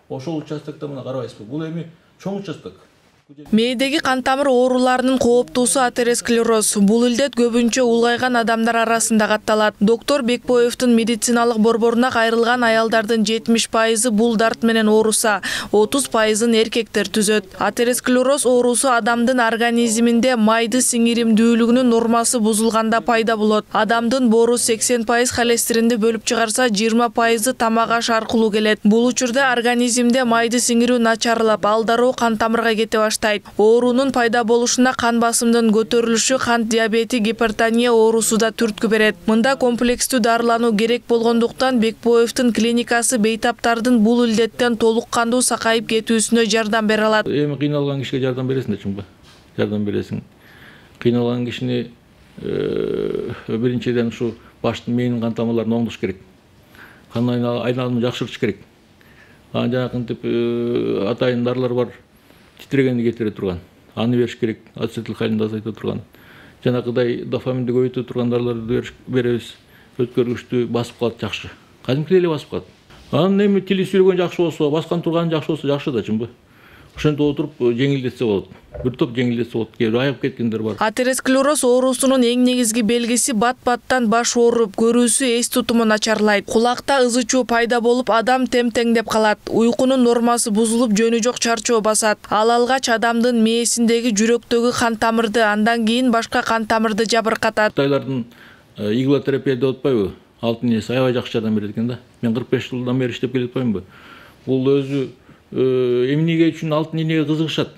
ошол участокто мына карабайсызбы, бул эми чоң участок. Мээдеги кан тамыр ооруларынын кооптуусу атеросклероз. Бул илдет көбүнчө улгайган адамдар арасында катталат. Доктор Бекбоевдун медициналык борборуна кайрылган аялдардын 70% бул дарт менен ооруса, 30%ын эркектер түзөт. Атеросклероз оорусу адамдын организминде майды сиңиримдүүлүгүнүн нормасы бузулганда пайда болот. Адамдын боору 80% холестеринди бөлүп чыгарса, 20% тамак аш аркылуу келет. Бул учурда организмде майды сиңирүү начарлап, ал дароо кан тамырга кете баштайт. Оорунун пайда болушуна кан басымдын көтөрүлүшү, кант диабети, гипертония оорусу да түрткү берет. Мында комплекстүү дарылануу керек болгондуктан Бекбоевдун клиникасы бейтаптардын бул илдеттен толук кандуу сакайып кетүүсүнө жардам бере алат. Эми кыйналган кишиге жардам бересиң да чыңбы? Жардам бересиң. Кыйналган кишини биринчиден ушу баштын мээнин кан тамырларын оңдош керек. Кан айналымын жакшыртыш керек. Анан жанакынтип атайын дарылар бар. Titrегенди кетире турган. Аны бериш керек. Ацетилхолинди азайта турган. Жанакыдай дофаминди көбөйтө турган дарларды беребиз. Өткөргүчтү басып калат жакшы. Кадимкидей эле басып калат. Анан эми тили сүйлөгөн жакшы болсо, баскан турган жакшы болсо жакшы да чынбы. Ошентип отуруп жеңилдетсе болот. Бир топ жеңилдетсе болот. Кээ бир айып кеткендер бар. Атеросклероз оорусунун эң негизги белгиси бат-баттан баш ооруп, көрүүсү, эс тутуму начарлайт. Кулакта ызы чуу пайда болуп, адам тем-теңдеп калат. Уйкунун нормасы бузулуп, жөнү жок чарчоо басат. Ал алгач адамдын мээсиндеги жүрөктөгү кан тамырды, андан кийин башка кан тамырды жабыркатат. Кытайлардын иглотерапия деп атпайбы? Алтын энеси аябай жакшы жардам берет экен да. Мен 45 жылдан бери иштеп келип атпаймынбы? Бул өзү эмнеге үчүн алтын энеге кызыгышат?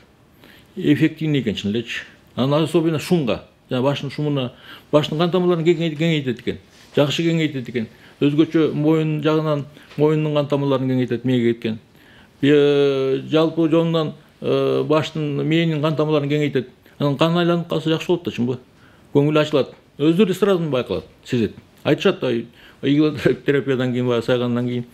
Эффективный экен чын элечи. Анан особенно шумга, жана баштын шумуна, баштын кан тамырларын кеңейтет экен. Жакшы кеңейтет экен. Өзгөчө моюн жагынан моюндун кан тамырларын кеңейтет, мээге кеткен. Жалпы жонунан баштын мээнин кан тамырларын кеңейтет. Анан кан айланып калса жакшы болот да чынбы? Көңүл ачылат. Өздөрү сразу байкалат, сезет. Айтышат иглотерапиядан кийин баягы сайгандан кийин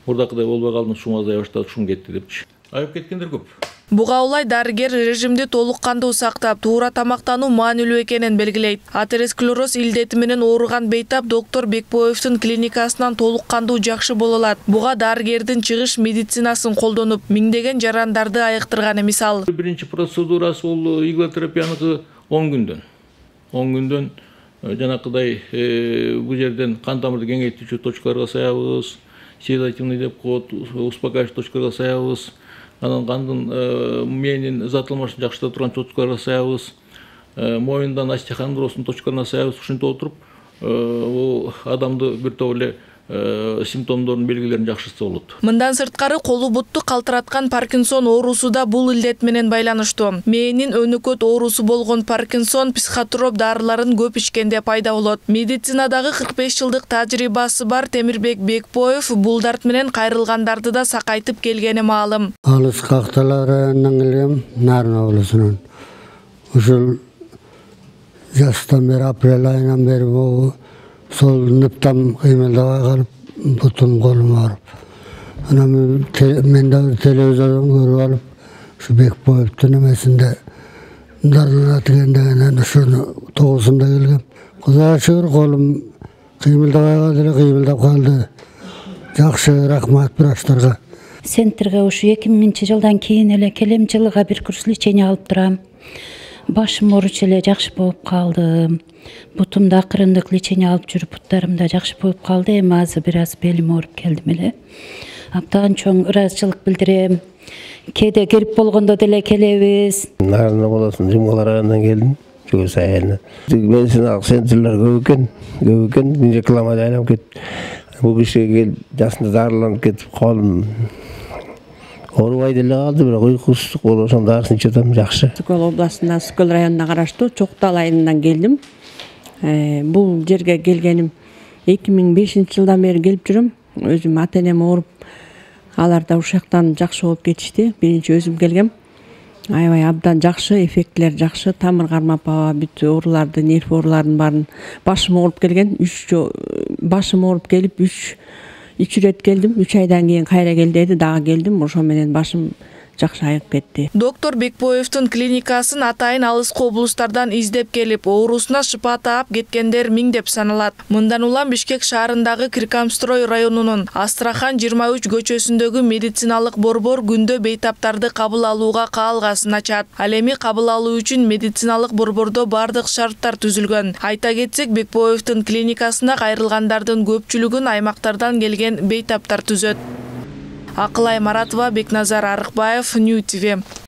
мурдакыдай болбой калдым, шум азая баштады, шум кетти депчи. Айып кеткендер көп. Буга улай дарыгер режимди толук кандуу сактап, туура тамактануу маанилүү экенин белгилейт. Атеросклероз илдети менен ооруган бейтап доктор Бекбоевдун клиникасынан толук кандуу жакшы боло алат. Буга дарыгердин чыгыш медицинасын колдонуп, миңдеген жарандарды айыктырганы мисал. Биринчи процедурасы бул иглотерапияныкы 10 күндөн. 10 күндөн жанакыдай бул жерден кан тамырды кеңейтүүчү точкаларга саябыз, седативный деп коет, успокаивающий точкаларга саябыз. Анан кандын мээнин ызатылмашын жакшырта турган точкаларга саябыз, моюндан остеохондростун точкаларына саябыз. Ушинтип отуруп, бул адамды бир топ эле симптомдордун белгилерин жакшыртса болот. Мындан сырткары колу бутту калтыраткан Паркинсон оорусу да бул илдет менен байланыштуу. Мээнин өнөкөт оорусу болгон Паркинсон психотроп дарыларын көп ичкенде пайда болот. Медицинадагы 45 жылдык тажрыйбасы бар Темирбек Бекбоев бул дарт менен кайрылгандарды да сакайтып келгени маалым. Алыс какталарынан келгем, Нарын облусунан. Ушул жастан бери, апрель айынан бери бул сол ныптам кыймылдабай калып, бутум колум ооруп. Анан мен да бир телевизордон көрүп алып, ушу Бекбоевдун эмесинде дарыланат экен дегенден ушуну тогузунда келгем. Кудайга шүгүр, колум кыймылдабай калды эле, кыймылдап калды. Жакшы, рахмат врачтарга. Центрге ушу 2000 жылдан кийин эле келем, жылга бир курс лечение алып турам. Башым ооруч эле жакшы болуп калды. Бутумда акырындык лечение алып жүрүп, буттарым да жакшы болуп калды. Эми азыр бир аз белим ооруп келдим эле. Абдан чоң ыраазычылык билдирем. Кээде кирип болгондо деле келебиз. Нарын облусунун Жумгалар районунан келдим. Чөгөс айылынан. Медициналык центрлер көп экен, рекламада айланып кетип. Бул кишиге келип, жасында дарыланып кетип, колум оорубай деле калды, бирок уйкусуздук болуп, ошонун дарысын ичип атам, жакшы. Сокол областына, Сокол районуна караштуу Чоктал айылынан келдим. Бул жерге келгеним 2005 жылдан бери келип жүрөм. Өзүм ата-энем ооруп, алар да ушактан жакшы болуп кетишти. Биринчи өзүм келгем. Аябай абдан жакшы, эффектилер жакшы, тамыр кармап, бүт ооруларды, нерв ооруларын баарын. Башым ооруп келген, башым ооруп келип 3 ирет келдим. 3 айдан кийин кайра кел деди, дагы келдим. Ошо менен башым жакшы айыгып кетти. Доктор Бекбоевдун клиникасын атайын алыскы облустардан издеп келип, оорусуна шыпа таап кеткендер миңдеп саналат. Мындан улам Бишкек шаарындагы Киркамстрой районунун Астрахан 23 көчөсүндөгү медициналык борбор күндө бейтаптарды кабыл алууга каалгасын ачат. Ал эми кабыл алуу үчүн медициналык борбордо бардык шарттар түзүлгөн. Айта кетсек, Бекбоевдун клиникасына кайрылгандардын көпчүлүгүн аймактардан келген бейтаптар түзөт. Акылай Маратова, Бекназар Арыкбаев, Нью ТВ.